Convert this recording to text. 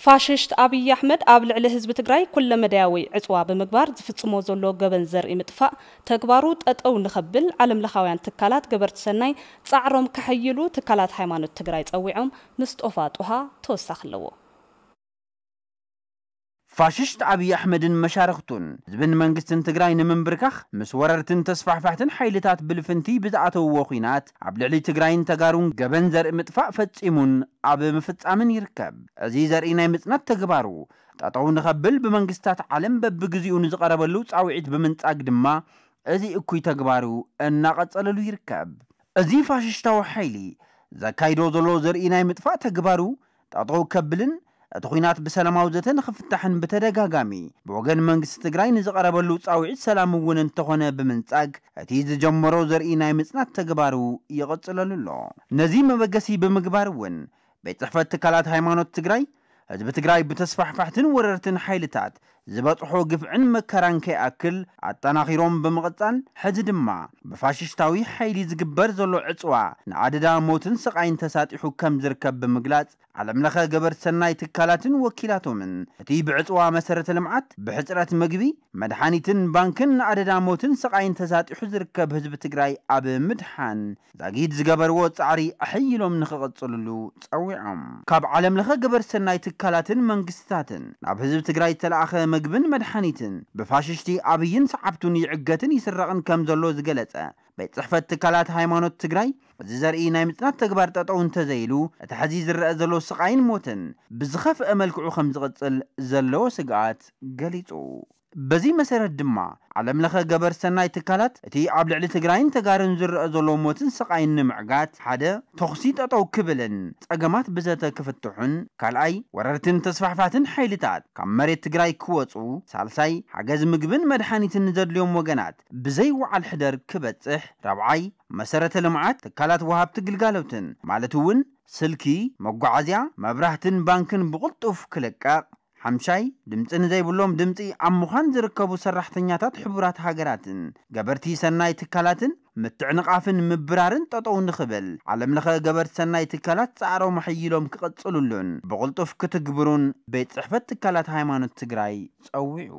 ፋሽስት ኣብይ ኣሕመድ ኣብ ልዕሊ ህዝቢ ትግራይ ኩለመዳያዊ ዕፅዋ ብምግባር ዝፍፅሞ ዘሎ ገበን ዘርኢ ምጥፋእ ተግባሩ ጠጠው ንኸብል ዓለምለኻውያን ትካላት ገበርቲ ሰናይ ፃዕሮም ከሐይሉ ትካላት ሃይማኖት ትግራይ ፀዊዖም። ምስጦፋ ጡሃ ተወሳኺ ኣለዎ። ፋሽስት ኣብይ ኣሕመድን መሻርኽቱን ህዝብን መንግስትን ትግራይ ንምንብርካኽ ምስ ወረርትን ተስፋሕፋሕትን ሓይልታት ብልፍንቲ ብዝኣተውዎ ኹናት ኣብ ልዕሊ ትግራይን ተጋሩን ገበን ዘርኢ ምጥፋእ ፈጺሙን ኣብ ምፍጻምን ይርከብ። እዚ ዘርኢ ናይ ምጽናት ተግባሩ ጠጠው ንኸብል ብመንግስታት ዓለም በብግዚኡ ንዝቐረበሉ ጻውዒት ብምንጻግ ድማ እዚ እኩይ ተግባሩ እናቐጸለሉ ይርከብ። እዚ ፋሽስታዊ ሓይሊ ዘካይዶ ዘሎ ዘርኢ ናይ ምጥፋእ ተግባሩ ጠጠው ከብልን እቲ ኹናት ብሰላማዊ ዘተ ንኽፍታሕን ብተደጋጋሚ ብወገን መንግስቲ ትግራይ ንዝቐረበሉ ጻውዒት ሰላም እውን እንተኾነ ብምንጻግ እቲ ዝጀመሮ ዘርኢ ናይ ምጽናት ተግባሩ ይቕጽለሉ ኣሎ። ነዚ መበገሲ ብምግባር እውን ቤት ጽሕፈት ትካላት ሃይማኖት ትግራይ ህዝቢ ትግራይ ብተስፋሕፋሕትን ወረርትን ሓይልታት ዝበፅሖ ግፍዕን መከራን ከይኣክል ኣጠናኺሮም ብምቕፃል ሕዚ ድማ ብፋሽስታዊ ሓይሊ ዝግበር ዘሎ ዕፅዋ ንኣደዳ ሞትን ስቓይን ተሳጢሑ ከም ዝርከብ ብምግላፅ ዓለምለኸ ገበርቲ ሰናይ ትካላትን ወኪላቶምን እቲ ብዕፅዋ መሰረተ ልምዓት ብሕፅረት ምግቢ መድሓኒትን ባንክን ንኣደዳ ሞትን ስቓይን ተሳጢሑ ዝርከብ ህዝቢ ትግራይ ኣብ ምድሓን ዛጊድ ዝገበርዎ ፃዕሪ ኣሐይሎም ንኽቕፅልሉ ፀዊዖም። ካብ ዓለምለኸ ገበርቲ ሰናይ ትካላትን መንግስትታትን ናብ ህዝቢ ትግራይ ዝተለኣኸ ምግብን መድሓኒትን ብፋሽሽቲ ኣብይን ሰዓብቱን ይዕገትን ይስረቕን ከም ዘሎ ዝገለፀ ቤት ፅሕፈት ትካላት ሃይማኖት ትግራይ እዚ ዘርኢ ናይ ምፅናት ተግባር ጠጠው እንተዘይሉ እቲ ሕዚ ዝረአ ዘሎ ስቓይን ሞትን ብዝኸፍአ መልክዑ ከም ዝቕፅል ዘለዎ ስግኣት ገሊፁ። በዚ መሰረት ድማ ዓለምለኸ ገበርቲ ሰናይ ትካላት እቲ ኣብ ልዕሊ ትግራይን ተጋሩን ዝረአ ዘሎ ሞትን ስቓይን ንምዕጋት ሓደ ተኹሲ ጠጠው ክብልን ፀገማት ብዘተ ክፍትሑን ካልኣይ ወረርትን ተስፋሕፋትን ሓይልታት ካብ መሬት ትግራይ ክወፁ ሳልሳይ ሓገዝ ምግብን መድሓኒትን ንዘድልዮም ወገናት ብዘይ ወዓል ሕደር ክበፅሕ ራብዓይ መሰረተ ልምዓት ትካላት ወሃብቲ ግልጋሎትን ማለት እውን ስልኪ መጓዓዝያ መብራህትን ባንክን ብቕልጡፍ ክልቀቕ ሓምሻይ ድምፂ ንዘይብሎም ድምፂ ኣብ ምዃን ዝርከቡ ሰራሕተኛታት ሕቡራት ሃገራትን ገበርቲ ሰናይ ትካላትን ምትዕንቓፍን ምብራርን ጠጠው ንኽብል ዓለምለኸ ገበርቲ ሰናይ ትካላት ፃዕሮም ኣሐይሎም ክቕፅሉሉን ብቕልጡፍ ክትግብሩን ቤት ፅሕፈት ትካላት ሃይማኖት ትግራይ ፀዊዑ።